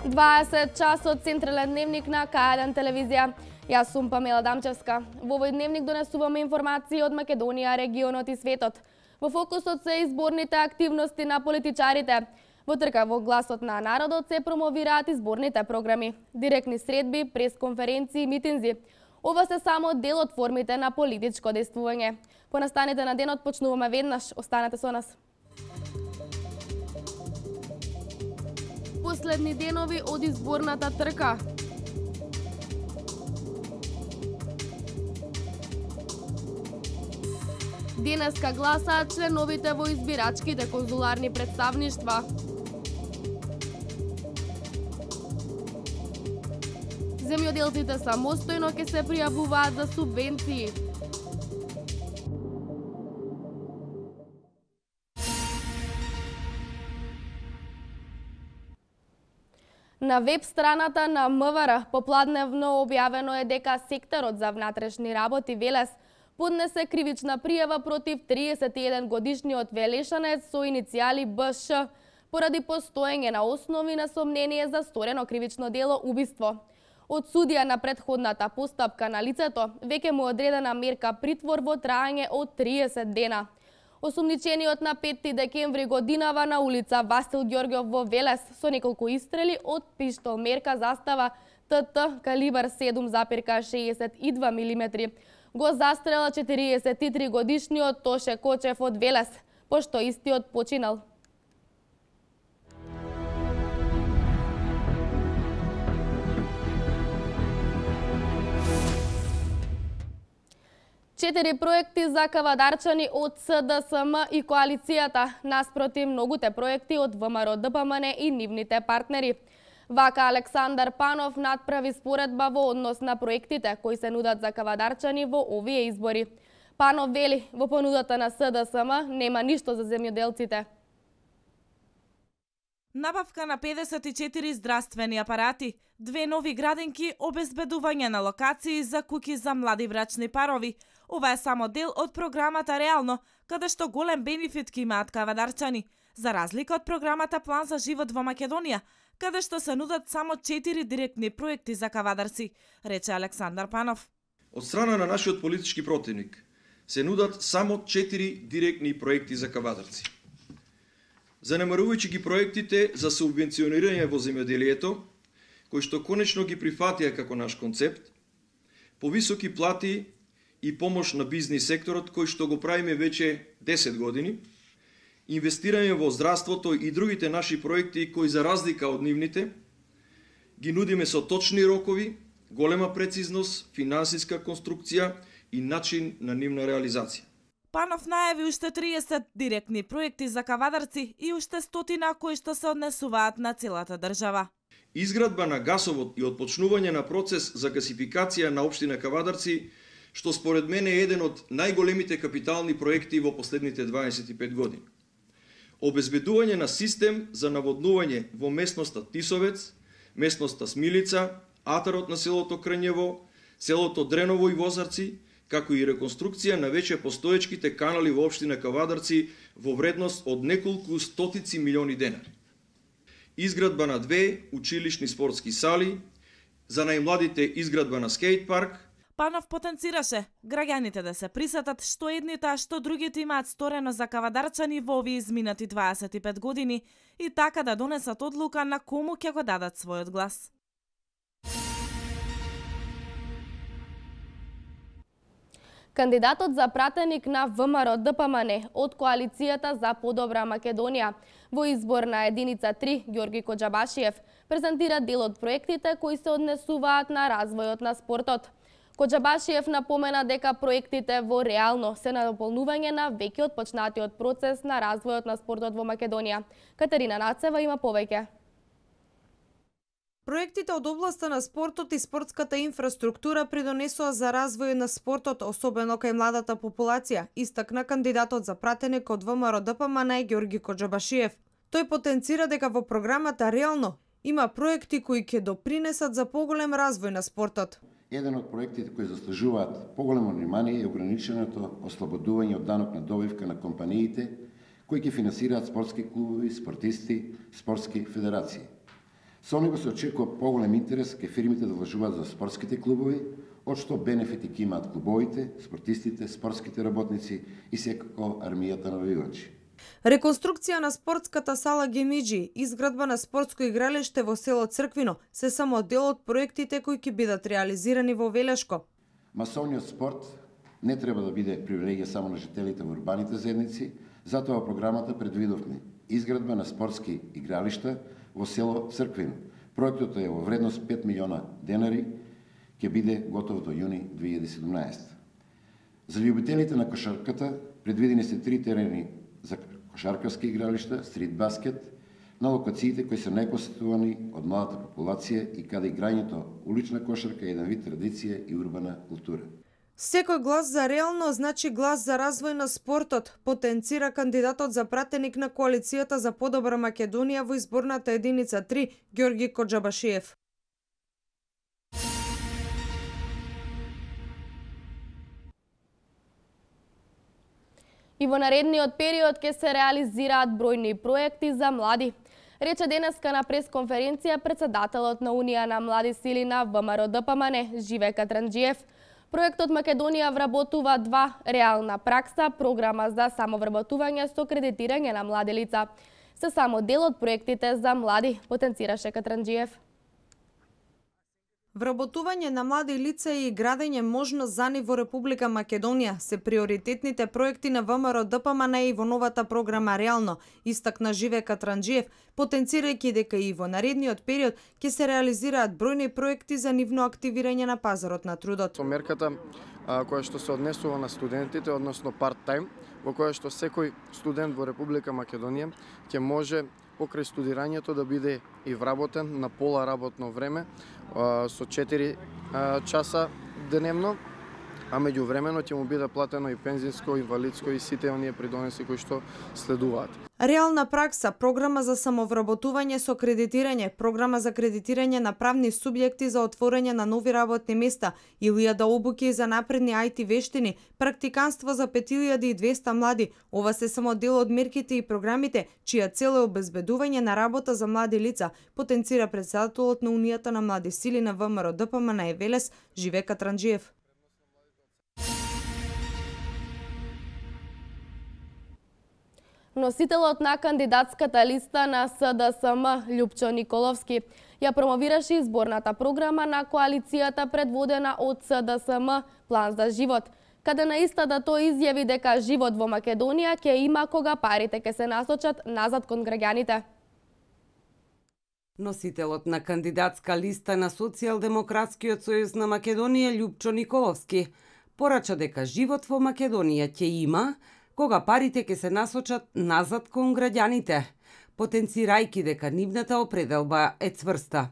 20 часот централен дневник на К1 телевизија. Јас сум Памела Дамчевска. Во овој дневник донесуваме информации од Македонија, регионот и светот. Во фокусот се изборните активности на политичарите. Во трка во гласот на народот се промовираат изборните програми, директни средби, пресконференции и митинзи. Ова се само дел од формите на политичко дејствување. По настаните на денот почнуваме веднаш. Останете со нас. Последни денови од изборната трка. Денеска гласаат членовите во избирачките конзуларни представништва. Земјоделците самостојно ќе се пријавуваат за субвенции. На веб страната на МВР попладневно објавено е дека секторот за внатрешни работи Велес поднесе кривична пријава против 31 годишниот велешанец со иницијали БШ поради постоење на основи на сомнение за сторено кривично дело убиство. Од судија на претходната постапка на лицето веќе му одредена мерка притвор во траење од 30 дена. Осумничениот на 5 декември годинава на улица Васил Ѓорѓов во Велес со неколку истрели од пиштол мерка застава ТТ калибар 7,62 мм. Го застрела 43 годишниот Тоше Кочев од Велес, пошто истиот починал. Четири проекти за кавадарчани од СДСМ и коалицијата, наспроти многуте проекти од ВМРО ДПМН и нивните партнери. Вака Александар Панов надправи споредба во однос на проектите кои се нудат за кавадарчани во овие избори. Панов вели, во понудата на СДСМ нема ништо за земјоделците. Набавка на 54 здравствени апарати, 2 нови градинки, обезбедување на локации за куќи за млади брачни парови. Ова е само дел од програмата Реално, каде што голем бенефит ки имаат кавадарчани, за разлика од програмата План за живот во Македонија, каде што се нудат само 4 директни проекти за кавадарци, рече Александар Панов. Од страна на нашиот политички противник се нудат само 4 директни проекти за кавадарци. Занемарувајќи ги проектите за субвенционирање во земјоделието, кои што конечно ги прифатија како наш концепт, повисоки плати и помош на бизнис секторот, кој што го правиме веќе 10 години, инвестирање во здравството и другите наши проекти кои за разлика од нивните, ги нудиме со точни рокови, голема прецизност, финансиска конструкција и начин на нивна реализација. Панов најави уште 30 директни проекти за кавадарци и уште 100 кои што се однесуваат на целата држава. Изградба на гасовод и отпочнување на процес за гасификација на општина Кавадарци, што според мене е еден од најголемите капитални проекти во последните 25 години. Обезбедување на систем за наводнување во местноста Тисовец, местноста Смилица, атарот на селото Крњево, селото Дреново и Возарци, како и реконструкција на веќе постоечките канали во општина Кавадарци во вредност од неколку стотици милиони денари. Изградба на 2 училишни спортски сали, за најмладите изградба на скејт парк. Панов потенцираше граѓаните да се присетат што едните, а што другите имаат сторено за кавадарчани во овие изминати 25 години и така да донесат одлука на кому ќе го дадат својот глас. Кандидатот за пратеник на ВМРО ДПМН од коалицијата за подобра Македонија во избор на единица 3 Ѓорги Коџабашиев презентира дел од проектите кои се однесуваат на развојот на спортот. Коџабашиев напомена дека проектите во Реално се надополнување на веќе отпочнатиот процес на развојот на спортот во Македонија. Катерина Нацева има повеќе. Проектите од областа на спортот и спортската инфраструктура придонесоа за развој на спортот, особено кај младата популација, истакна кандидатот за пратеник од ВМРО ДПМН Ѓорги Коџабашиев. Тој потенцира дека во програмата Реално има проекти кои ќе допринесат за поголем развој на спортот. Еден од проектите кои заслужуваат поголемо внимание е ограниченото ослободување од данок на добивка на компаниите кои ќе финансираат спортски клубови, спортисти, спортски федерации. Со него се очекува поголем интерес ке фирмите да вложуваат за спортските клубови, од што бенефити ќе имаат клубовите, спортистите, спортските работници и секако армијата навивачи. Реконструкција на спортската сала Гемиџи, изградба на спортско игралиште во село Црквино се само дел од проектите кои ќе бидат реализирани во Велешко. Масовниот спорт не треба да биде привилегија само на жителите во урбаните заедници, затоа во програмата предвидовме изградба на спортски игралишта во село Црквино. Проектот е во вредност 5 милиона денари, ќе биде готов до јуни 2017. За љубителите на кошарката предвидени се 3 терени за кошаркарски игралишта, стрит баскет, на локациите кои се најпосетувани од младата популација и каде играњето улична кошарка е еден вид традиција и урбана култура. Секој глас за реално значи глас за развој на спортот, потенцира кандидатот за пратеник на коалицијата за подобра Македонија во изборната единица 3, Ѓорги Коџабашиев. И во наредниот период ќе се реализираат бројни проекти за млади. Рече денеска на пресконференција председателот на Унија на млади сили на ВМРО ДПМН, Живе Катранџиев. Проектот Македонија вработува 2 реална пракса, програма за самовработување со кредитирање на млади лица. Се само дел од проектите за млади, потенцираше Катранџиев. Вработување на млади лица и градење можност за нив во Република Македонија се приоритетните проекти на ВМРО ДПМН и во новата програма Реално, истакна Живе Катранџиев, потенцирајќи дека и во наредниот период ќе се реализираат бројни проекти за нивно активирање на пазарот на трудот. Со мерката која што се однесува на студентите, односно парт-тајм, во која што секој студент во Република Македонија ќе може покрај студирањето да биде и вработен на пола работно време со 4 часа деневно, а меѓувремено ќе му биде платено и пензинско, инвалидско и сите оние придонеси кои што следуваат. Реална пракса, програма за самовработување со кредитирање, програма за кредитирање на правни субјекти за отворање на нови работни места, 1000 обуки за напредни IT вештини, практиканство за 5200 млади. Ова се само дел од мерките и програмите, чија цел е обезбедување на работа за млади лица, потенцира председателот на Унијата на млади сили на ВМРО ДПМН Велес, Живе Катранџиев. Носителот на кандидатската листа на СДСМ, Љупчо Николовски, ја промовираше изборната програма на коалицијата предводена од СДСМ План за живот, каде на истата тој изјави дека живот во Македонија ќе има кога парите ќе се насочат назад кон граѓаните. Носителот на кандидатска листа на Социјалдемократскиот сојуз на Македонија, Љупчо Николовски, порача дека живот во Македонија ќе има кога парите ќе се насочат назад кон граѓаните, потенцирајќи дека нивната определба е цврста.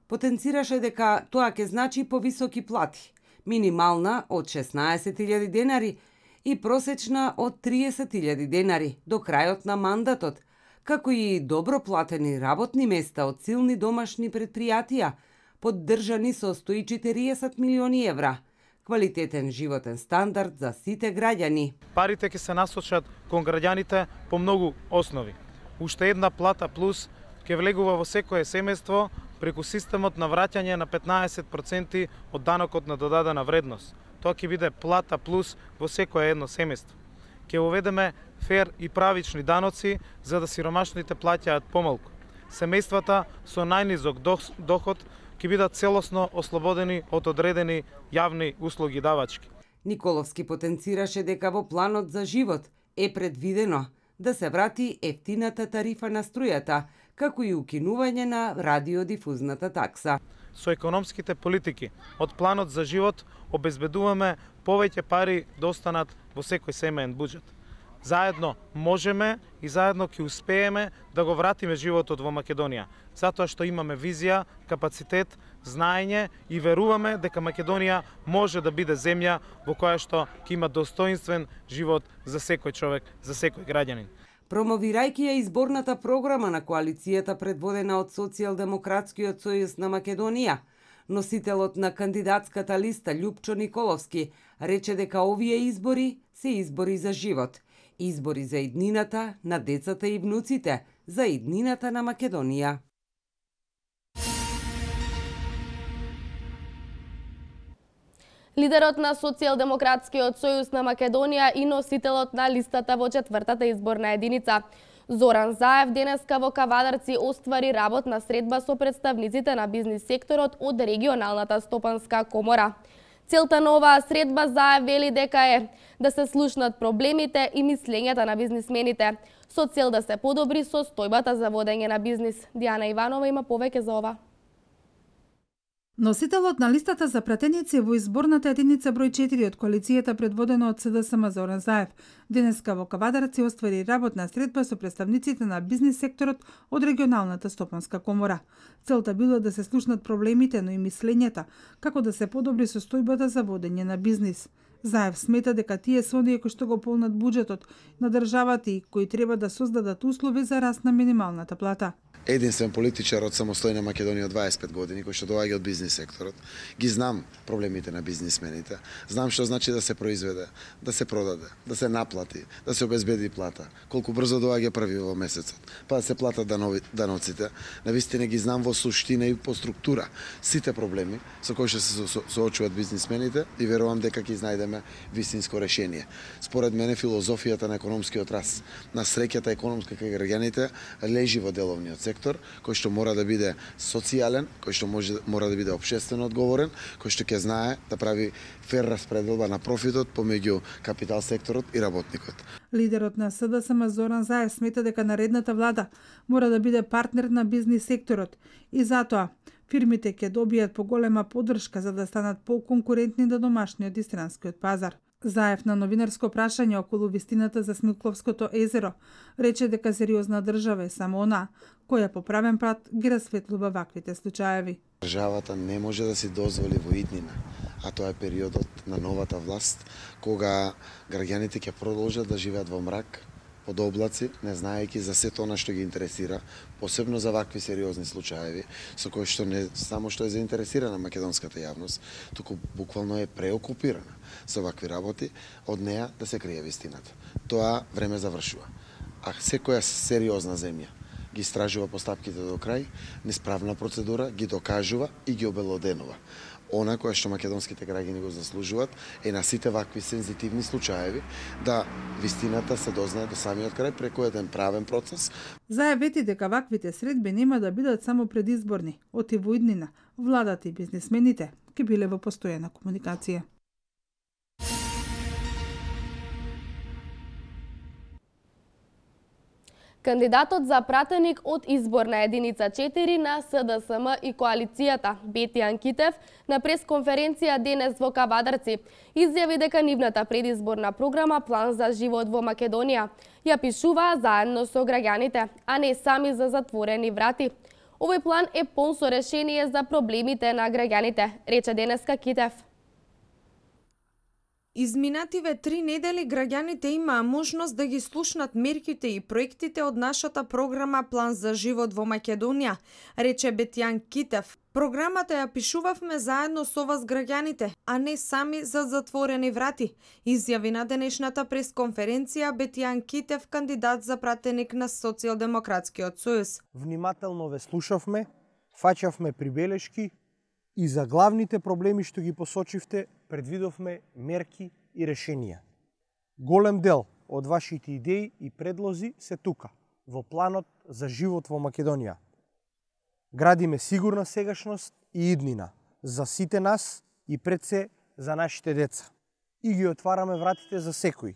Потенцираше дека тоа ќе значи повисоки плати, минимална од 16.000 денари и просечна од 30.000 денари до крајот на мандатот, како и добро платени работни места од силни домашни предпријатија, поддржани со 140 милиони евра, квалитетен животен стандард за сите граѓани. Парите ќе се насочат кон граѓаните по многу основи. Уште една плата плюс ќе влегува во секое семејство преку системот на враќање на 15% од данокот на додадена вредност. Тоа ќе биде плата плюс во секое едно семејство. Ќе уведеме фер и правични даноци за да сиромашните плаќаат помалку. Семејствата со најнизок доход ќе бидат целосно ослободени од одредени јавни услуги давачки. Николовски потенцираше дека во планот за живот е предвидено да се врати ефтината тарифа на струјата, како и укинување на радиодифузната такса. Со економските политики од планот за живот обезбедуваме повеќе пари да останат во секој семеен буџет. Заедно можеме и заедно ќе успееме да го вратиме животот во Македонија, затоа што имаме визија, капацитет, знаење и веруваме дека Македонија може да биде земја во која што ќе има достоинствен живот за секој човек, за секој граѓанин. Промовирајќи ја изборната програма на коалицијата предводена од Социјалдемократскиот сојуз на Македонија, носителот на кандидатската листа Љупчо Николовски рече дека овие избори се избори за живот, избори за иднината на децата и внуците, за иднината на Македонија. Лидерот на Социјалдемократскиот сојуз на Македонија и носителот на листата во 4-та изборна единица Зоран Заев денеска во Кавадарци оствари работна средба со представниците на бизнис секторот од регионалната стопанска комора. Целта на оваа средба Заев вели дека е да се слушнат проблемите и мислењата на бизнисмените, со цел да се подобри состојбата за водење на бизнис. Дијана Иванова има повеќе за ова. Носителот на листата за пратеници во изборната единица број 4 од коалицијата предводена од СДСМ Зоран Заев денеска во Кавадарци оствари работна средба со представниците на бизнис секторот од регионалната стопанска комора. Целта било да се слушнат проблемите, но и мислењата, како да се подобри состојбата за водење на бизнис. Заев смета дека тие се оние кои што го полнат буџетот на државата и кои треба да создадат услови за раст на минималната плата. Единствен политичар од самостојна Македонија од 25 години, кој што доаѓа од бизнис секторот. Ги знам проблемите на бизнисмените. Знам што значи да се произведе, да се продаде, да се наплати, да се обезбеди плата. Колку брзо доаѓа први во месецот, па да се платат даноците. Навистина ги знам во суштина и по структура сите проблеми со кои што се соочуваат бизнисмените и верувам дека ќе најдеме вистинско решение. Според мене филозофијата на економскиот раст, на среќата економска кај граѓаните лежи во деловниот сектор, кој што мора да биде социјален, кој што мора да биде општествено одговорен, кој што ќе знае да прави фер распределба на профитот помеѓу капитал секторот и работникот. Лидерот на СДСМ Зоран Заев смета дека наредната влада мора да биде партнер на бизнис секторот и затоа фирмите ќе добијат поголема поддршка за да станат поконкурентни на домашниот и странскиот пазар. Заев на новинарско прашање околу вистината за Смилковското езеро рече дека сериозна држава е само она која по правен пат ги расветлува ваквите случаеви. Државата не може да си дозволи во иднина, а тоа е периодот на новата власт, кога граѓаните ќе продолжат да живеат во мрак, под облаци, не знаејќи за сето она што ги интересира, посебно за вакви сериозни случаеви, со кои што не само што е заинтересирана македонската јавност, туку буквално е преокупирана со вакви работи, од неа да се крие вистината. Тоа време завршува. А секоја сериозна земја ги истражува постапките до крај, несправна процедура, ги докажува и ги обелоденува. Она која што македонските граѓани го заслужуваат е на сите вакви сензитивни случаеви да вистината се дознае до самиот крај преку еден правен процес. Заев вети дека ваквите средби нема да бидат само предизборни, оти во иднина, владата и бизнисмените ќе биле во постојана комуникација. Кандидатот за пратеник од изборна единица 4 на СДСМ и коалицијата Бетјан Китев на пресконференција денес во Кавадарци изјави дека нивната предизборна програма План за живот во Македонија ја пишуваа заедно со граѓаните, а не сами за затворени врати. Овој план е полн со решение за проблемите на граѓаните, рече денеска Китев. Изминативе 3 недели граѓаните имаа можност да ги слушнат мерките и проектите од нашата програма План за живот во Македонија, рече Бетјан Китев. Програмата ја пишувавме заедно со вас граѓаните, а не сами за затворени врати, изјави на денешната пресконференција Бетјан Китев, кандидат за пратеник на Социјалдемократскиот сојуз. Внимателно ве слушавме, фаќавме прибелешки и за главните проблеми што ги посочивте предвидовме мерки и решенија. Голем дел од вашите идеи и предлози се тука, во планот за живот во Македонија. Градиме сигурна сегашност и иднина за сите нас и пред се за нашите деца. И ги отвараме вратите за секој.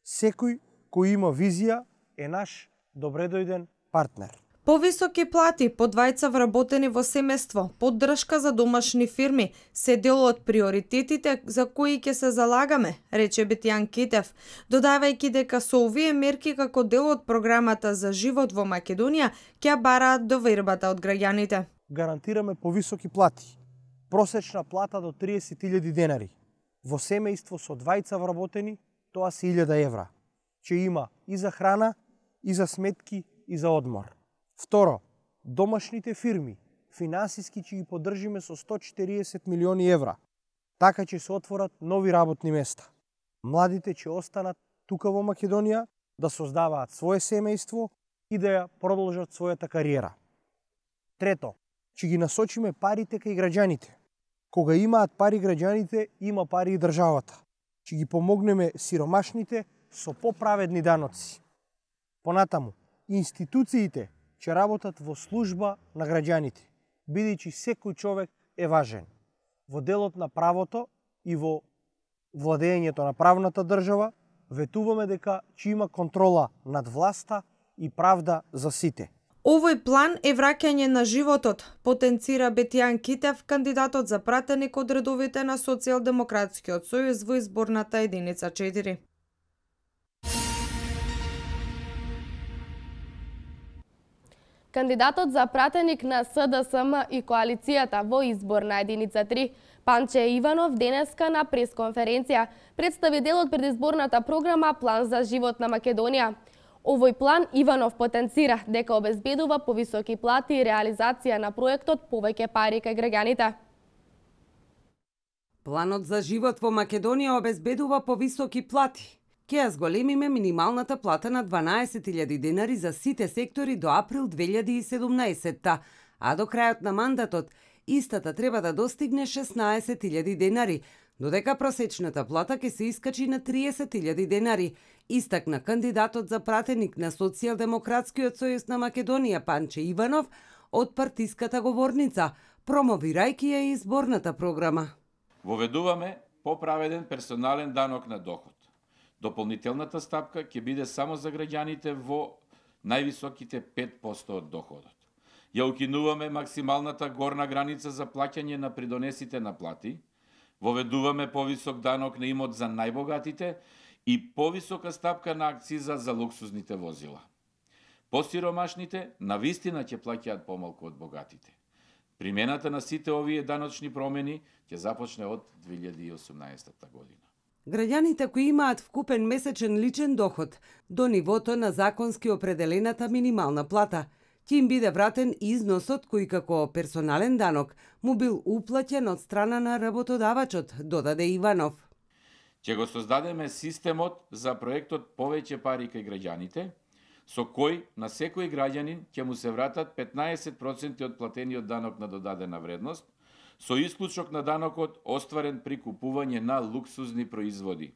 Секој кој има визија е наш добредојден партнер. Повисоки плати, подвајца вработени во семејство, поддршка за домашни фирми се дел од приоритетите за кои ќе се залагаме, рече Бетјан Китев, додавајќи дека со овие мерки како дел од програмата за живот во Македонија ќе бараат довербата од граѓаните. Гарантираме повисоки плати, просечна плата до 30.000 денари. Во семејство со двајца вработени тоа се 1000 евра, че има и за храна, и за сметки, и за одмор. Второ, домашните фирми финансиски ќе ги поддржиме со 140 милиони евра, така ќе се отворат нови работни места. Младите ќе останат тука во Македонија да создаваат свое семејство и да ја продолжат својата кариера. Трето, ќе ги насочиме парите кај граѓаните, Кога имаат пари граѓаните, има пари и државата. Ќе ги помогнеме сиромашните со поправедни даноци. Понатаму, институциите ќе работат во служба на граѓаните, бидејќи секој човек е важен. Во делот на правото и во владењето на правната држава, ветуваме дека ќе има контрола над власта и правда за сите. Овој план е враќање на животот, потенцира Бетијан Китев, кандидатот за пратеник од редовите на Социјалдемократскиот сојуз во изборната единица 4. Кандидатот за пратеник на СДСМ и коалицијата во изборна единица 3, Панче Иванов, денеска на пресконференција представи дел од предизборната програма План за живот на Македонија. Овој план Иванов потенцира дека обезбедува повисоки плати и реализација на проектот повеќе пари кај граѓаните. Планот за живот во Македонија обезбедува повисоки плати. Ќе ја зголемиме минималната плата на 12.000 денари за сите сектори до април 2017, а до крајот на мандатот истата треба да достигне 16.000 денари, додека просечната плата ќе се искачи на 30.000 денари, истакна кандидатот за пратеник на Социјалдемократскиот сојуз на Македонија Панче Иванов од партиската говорница, промовирајќи ја изборната програма. Воведуваме поправеден персонален данок на доход. Дополнителната стапка ќе биде само за граѓаните во највисоките 5% од доходот. Ја укинуваме максималната горна граница за плаќање на придонесите на плати, воведуваме повисок данок на имот за најбогатите и повисока стапка на акциза за луксузните возила. Посиромашните навистина ќе плаќаат помалку од богатите. Примената на сите овие даночни промени ќе започне од 2018 година. Граѓаните кои имаат вкупен месечен личен доход до нивото на законски определената минимална плата, ќе им биде вратен износот кој како персонален данок му бил уплаќен од страна на работодавачот, додаде Иванов. Ќе го создадеме системот за проектот повеќе пари кај граѓаните, со кој на секој граѓанин ќе му се вратат 15% од платениот данок на додадена вредност, со исклучок на данокот остварен при купување на луксузни производи.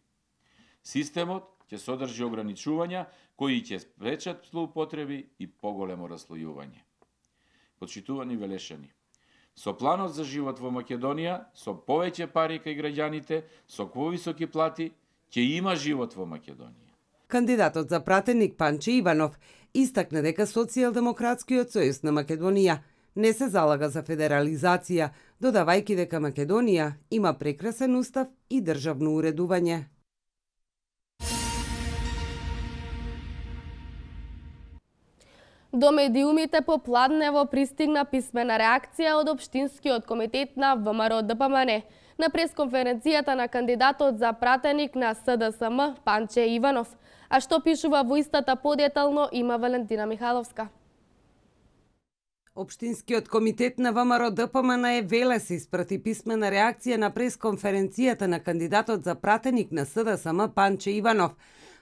Системот ќе содржи ограничувања кои ќе спречат злоупотреби и поголемо расслојување. Почитувани велешани, со планот за живот во Македонија, со повеќе пари кај граѓаните, со повисоки плати, ќе има живот во Македонија. Кандидатот за пратеник Панче Иванов истакна дека Социјалдемократскиот сојуз на Македонија не се залага за федерализација, додавајќи дека Македонија има прекрасен устав и државно уредување. До медиумите попладнево пристигна писмена реакција од Општинскиот комитет на ВМРО-ДПМН на пресконференцијата на кандидатот за пратеник на СДСМ Панче Иванов, а што пишува во истата подетално има Валентина Михаловска. Општинскиот комитет на ВМРО-ДПМН Велес испрати писмена реакција на пресконференцијата на кандидатот за пратеник на СДСМ Панче Иванов.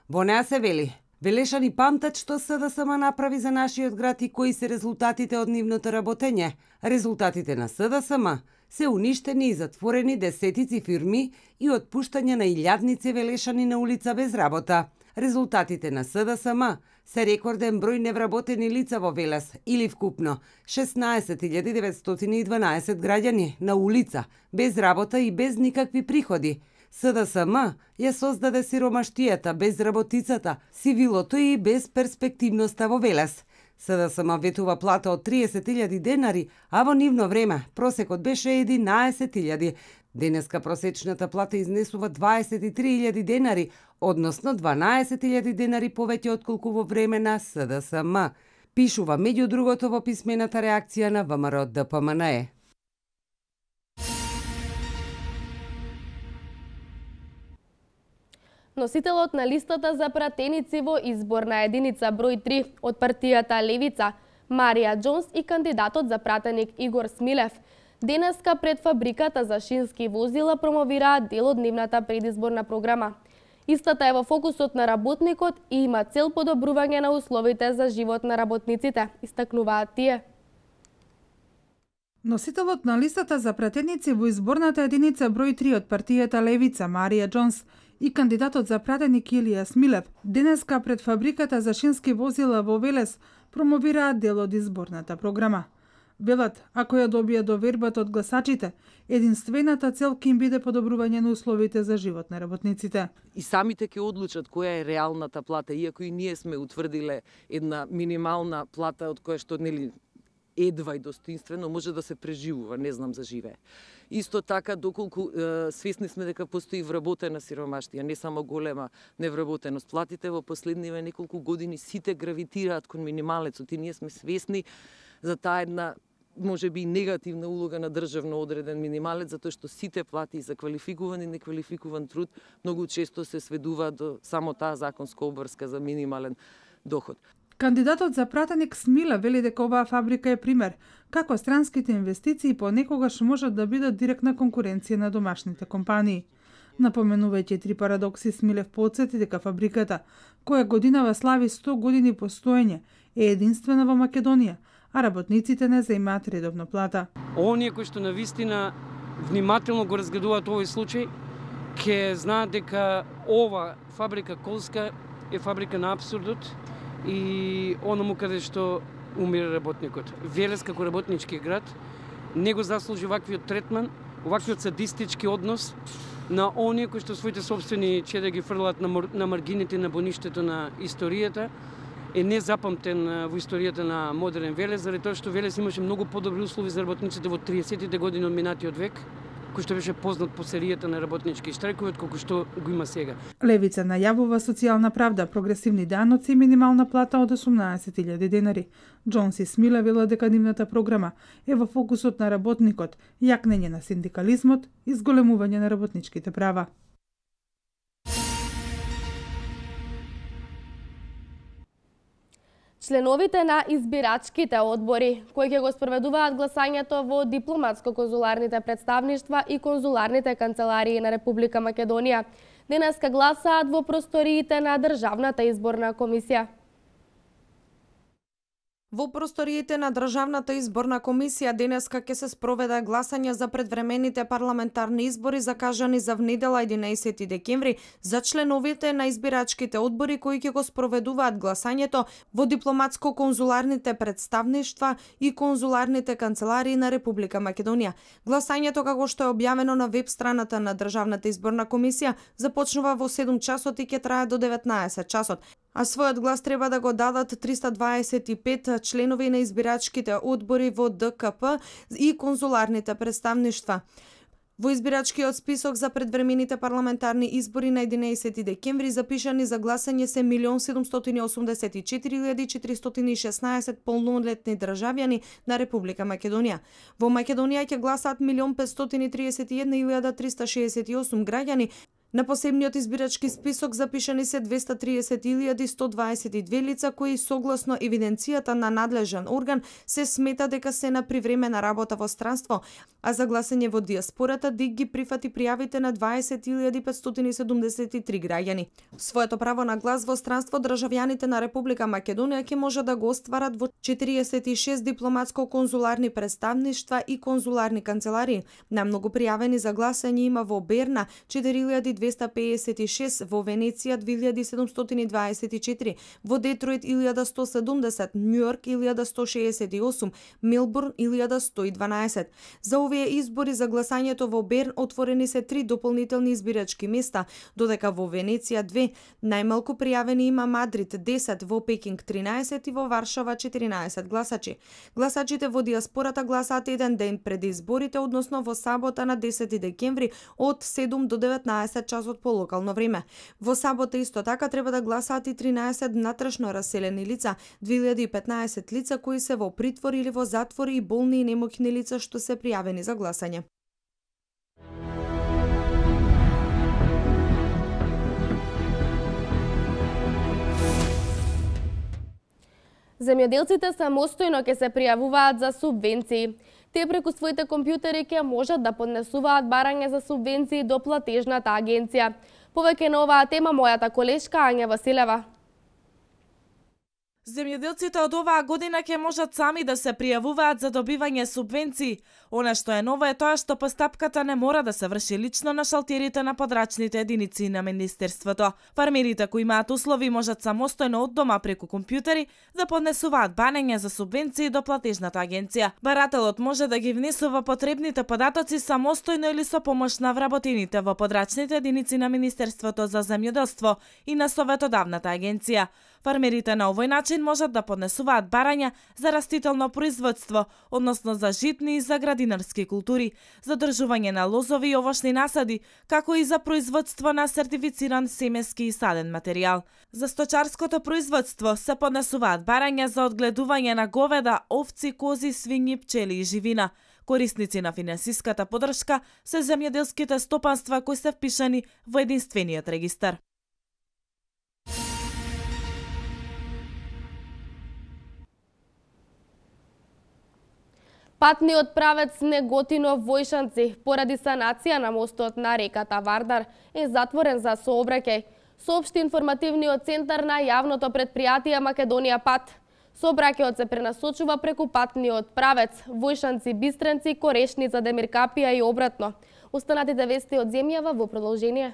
Во неа се вели: велешани памтат што СДСМ направи за нашиот град и кои се резултатите од нивното работење. Резултатите на СДСМ се уништени и затворени десетици фирми и отпуштање на илјадници велешани на улица без работа. Резултатите на СДСМ се рекорден број невработени лица во Велес или вкупно 16.912 граѓани на улица, без работа и без никакви приходи. СДСМ ја создаде сиромаштијата, безработицата, сивилото и безперспективноста во Велес. СДСМ ветува плата од 30.000 денари, а во нивно време просекот беше 11.000. Денеска просечната плата изнесува 23.000 денари, односно 12.000 денари повеќе отколку во време на СДСМ. Пишува меѓу другото во писмената реакција на ВМРО-ДПМН. Носителот на листата за пратеници во изборна единица број 3 од партијата Левица, Марија Џонс и кандидатот за пратеник Игор Смилев, денеска пред фабриката за шински возила промовираат дел од нивната предизборна програма. Истата е во фокусот на работникот и има цел подобрување на условите за живот на работниците, истакнуваат тие. Носителот на листата за пратеници во изборната единица број 3 од партијата Левица, Марија Џонс, и кандидатот за пратеник Илија Смилев, денеска пред фабриката за шински возила во Велес промовираат дел од изборната програма. Велат, ако ја добија довербата од гласачите, единствената цел ќе им биде подобрување на условите за живот на работниците. И самите ќе одлучат која е реалната плата, иако и ние сме утврдиле една минимална плата од која што едва и достоинствено може да се преживува, не знам за живее. Исто така, доколку свесни сме дека постои вработена сиромаштија, не само голема невработеност. Платите во последниве неколку години сите гравитираат кон минималецот и ние сме свесни за таа една може би негативна улога на државно одреден минималец, затоа што сите плати за квалификуван и неквалификуван труд многу често се сведуваат до само таа законска обврска за минимален доход. Кандидатот за пратеник Смилев вели дека оваа фабрика е пример како странските инвестиции понекогаш можат да бидат директна конкуренција на домашните компании. Напоменувајќи три парадокси, Смилев потсети дека фабриката, која годинава слави 100 години постоење, е единствена во Македонија, а работниците не заимаат редовно плата. Оние кои што навистина внимателно го разгледуваат овој случај, ќе знаат дека ова фабрика Колска е фабрика на апсурдот и оному каде што умира работникот. Велес како работнички град не го заслужи ваквиот третман, ваквиот садистички однос на оние кои што своите собствени чеда ги фрлат на маргините на боништето на историјата, е незапамтен во историјата на модерен Велес, заради тоа што Велес имаше многу подобри услови за работниците во 30-тите години од минатиот век, кој што беше познат по серијата на работнички штрајкови, колку што го има сега. Левица најавува социјална правда, прогресивни даноци и минимална плата од 18.000 денари. Џонс и Смилев велат дека нивната програма е во фокусот на работникот, јакнење на синдикализмот и зголемување на работничките права. Членовите на избирачките одбори, кои ќе го спроведуваат гласањето во дипломатско-конзуларните представништва и конзуларните канцеларии на Република Македонија, денеска гласаат во просториите на Државната изборна комисија. Во просториите на Државната изборна комисија денеска ќе се спроведе гласање за предвремените парламентарни избори закажани за внедела 11 декември за членовите на избирачките одбори кои ќе го спроведуваат гласањето во дипломатско-конзуларните представништва и конзуларните канцеларии на Република Македонија. Гласањето, како што е објавено на веб страната на Државната изборна комисија, започнува во 7 часот и ќе трае до 19 часот. А својот глас треба да го дадат 325 членови на избирачките одбори во ДКП и конзуларните представништва. Во избирачкиот список за предвремените парламентарни избори на 11 декември запишани за гласање се 1.784.416 полнолетни државјани на Република Македонија. Во Македонија ќе гласаат 1.531.368 граѓани. На посебниот избирачки список запишани се 230.122 лица кои согласно евиденцијата на надлежен орган се смета дека се на привремена работа во странство, а за гласање во диаспората ДИК ги прифати пријавите на 20.573 граѓани. Своето право на глас во странство државјаните на Република Македонија ќе може да го остварат во 46 дипломатско-конзуларни представништва и конзуларни канцеларии. Најмногу пријавени за гласање има во Берна 4.256, во Венеција 2.724, во Детройт 1.170, Њујорк 1.168, Мелбурн 1.112. За овие избори за гласањето во Берн отворени се 3 дополнителни избирачки места, додека во Венеција 2, најмалку пријавени има Мадрид 10, во Пекинг 13 и во Варшава 14 гласачи. Гласачите во диаспората гласаат еден ден пред изборите, односно во сабота на 10 декември од 7 до 19 часот по локално време. Во сабота исто така треба да гласаат и 13 внатрешно раселени лица, 2015 лица кои се во притвор или во затвор и болни и немоќни лица што се пријавени за гласање. Земјоделците самостојно ќе се пријавуваат за субвенции. Те преку своите компјутери ќе можат да поднесуваат барање за субвенции до платежната агенција. Повеќе на оваа тема мојата колешка Ања Василева. Земјоделците од оваа година ќе можат сами да се пријавуваат за добивање субвенции. Она што е ново е тоа што постапката не мора да се врши лично на шалтерите на подрачните единици на Министерството. Фармерите кои имаат услови можат самостојно од дома преку компјутери да поднесуваат барања за субвенции до платежната агенција. Барателот може да ги внесува потребните податоци самостојно или со помош на вработените во подрачните единици на Министерството за земјоделство и на Советодавната агенција. Фармерите на овој начин можат да поднесуваат барања за растително производство, односно за житни и за градинарски култури, за држување на лозови и овошни насади, како и за производство на сертифициран семески и саден материјал. За сточарското производство се поднесуваат барања за одгледување на говеда, овци, кози, свињи, пчели и живина. Корисници на финансиската подршка се земјоделските стопанства кои се впишани во единствениот регистар. Патниот правец Неготино-Војшанци поради санација на мостот на реката Вардар е затворен за сообраќај, соопшти информативниот центар на јавното предпријатие Македонија Пат. Сообраќајот се пренасочува преку патниот правец Војшанци-Бистренци, Корешница, Демиркапија и обратно. Останатите вести од земјава во продолжение.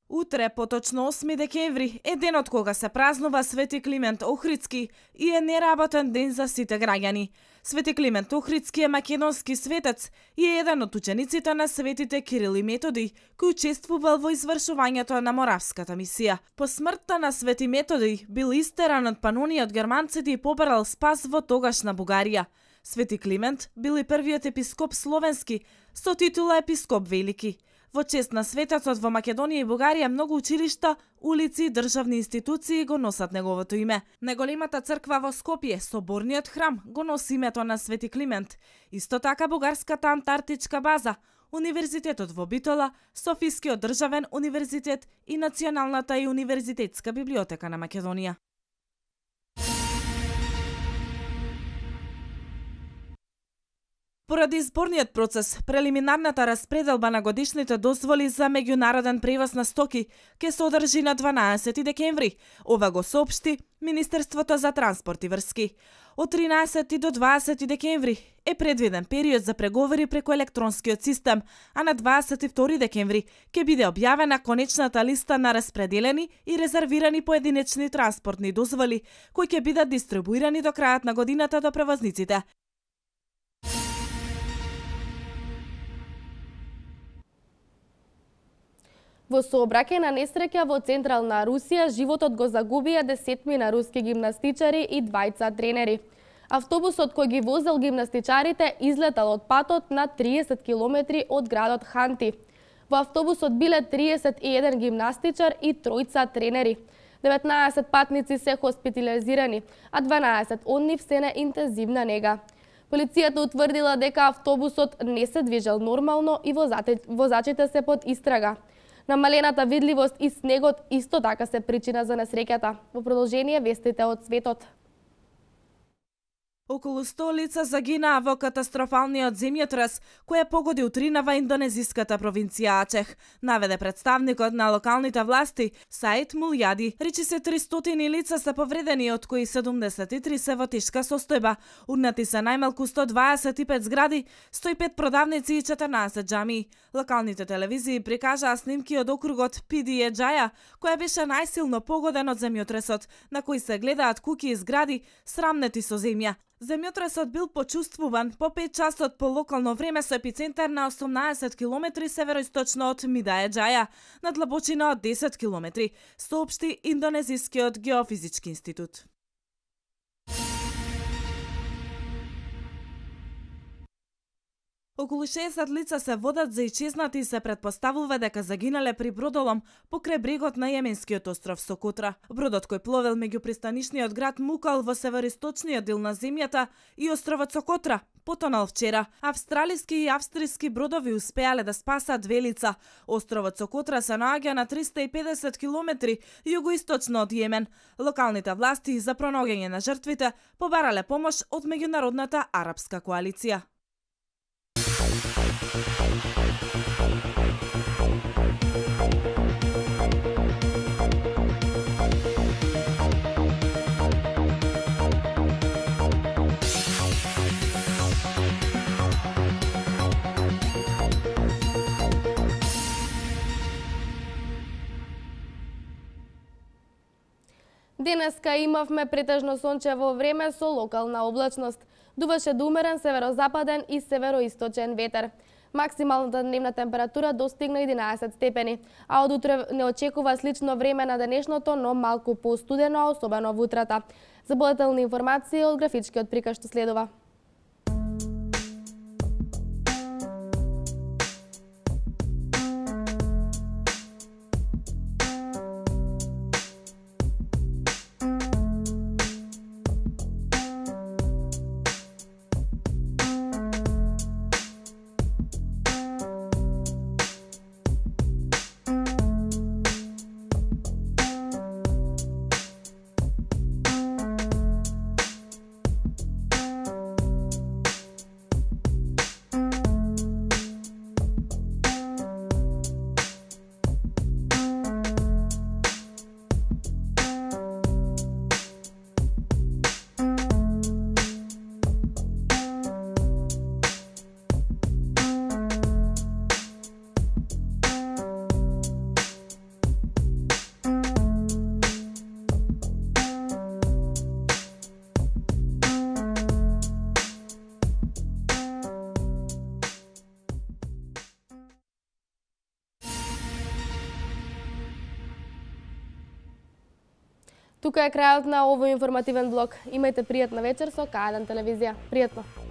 Утре, поточно 8 декември, е денот кога се празнува Свети Климент Охридски и е неработен ден за сите граѓани. Свети Климент Охридски е македонски светец и е еден од учениците на светите Кирил и Методи, кој учествувал во извршувањето на Моравската мисија. По смртта на Свети Методи бил истеран од Паноније од германците и побарал спас во тогашна Бугарија. Свети Климент бил и првиот епископ словенски со титула епископ велики. Во чест на светецот во Македонија и Бугарија многу училишта, улици и државни институции го носат неговото име. Неголемата црква во Скопје, соборниот храм, го носи името на Свети Климент. Исто така бугарската антарктичка база, Универзитетот во Битола, Софискиот државен универзитет и Националната и универзитетска библиотека на Македонија. Поради изборниот процес, прелиминарната распределба на годишните дозволи за меѓународен превоз на стоки ќе се одржи на 12 декември. Ова го соопшти Министерството за транспорт и врски. Од 13 до 20 декември е предвиден период за преговори преку електронскиот систем, а на 22 декември ќе биде објавена конечната листа на распределени и резервирани поединечни транспортни дозволи, кои ќе бидат дистрибуирани до крајот на годината до превозниците. Во сообраќајна несреќа во централна Русија животот го загубија 10 руски гимнастичари и 2 тренери. Автобусот кој ги возел гимнастичарите излетал од патот на 30 километри од градот Ханти. Во автобусот биле 31 гимнастичар и 3 тренери. 19 патници се хоспитализирани, а 12 од нив се на интензивна нега. Полицијата утврдила дека автобусот не се движел нормално и возачите се под истрага. Намалената видливост и снегот исто така се причина за несреќата. Во продолжение вестите од светот. Околу 100 лица загинаа во катастрофалниот земјотрес кој погоди утринава индонезиската провинција Ачех, наведе представникот на локалните власти Саид Мулјади. Речи се 300 лица се повредени, од кои 73 се во тешка состојба. Урнати се најмалку 125 згради, 105 продавници и 14 џамии. Локалните телевизии прикажаа снимки од округот Пидие Џаја, која беше најсилно погоден од земјотресот, на кој се гледаат куќи и згради срамнети со земја. Земјотресот бил почувствуван по 5 часот по локално време со епицентар на 18 км североисточно од Мидае Џаја, на длабочина од 10 км, соопшти Индонезискиот геофизички институт. Околу 60 лица се водат за исчезнати и се претпоставува дека загинале при бродолом покрај брегот на јеменскиот остров Сокотра. Бродот кој пловел меѓу пристанишниот град Мукал во североисточниот дел на земјата и островот Сокотра потонал вчера. Австралиски и австријски бродови успеале да спасат 2 лица. Островот Сокотра се наоѓа на 350 км југоисточно од Јемен. Локалните власти за пронаоѓање на жртвите побарале помош од меѓународната арапска коалиција. Денеска имавме претежно сончево време со локална облачност. Дуваше до умерен северозападен и североисточен ветер. Максималната дневна температура достигна 11 степени, а од утре не очекува слично време на денешното, но малку постудено, особено во утрата. За подетелни информации од графичкиот приказ што следува. Тука е крајот на овој информативен блок. Имајте пријатна вечер со К1 телевизија. Пријатно!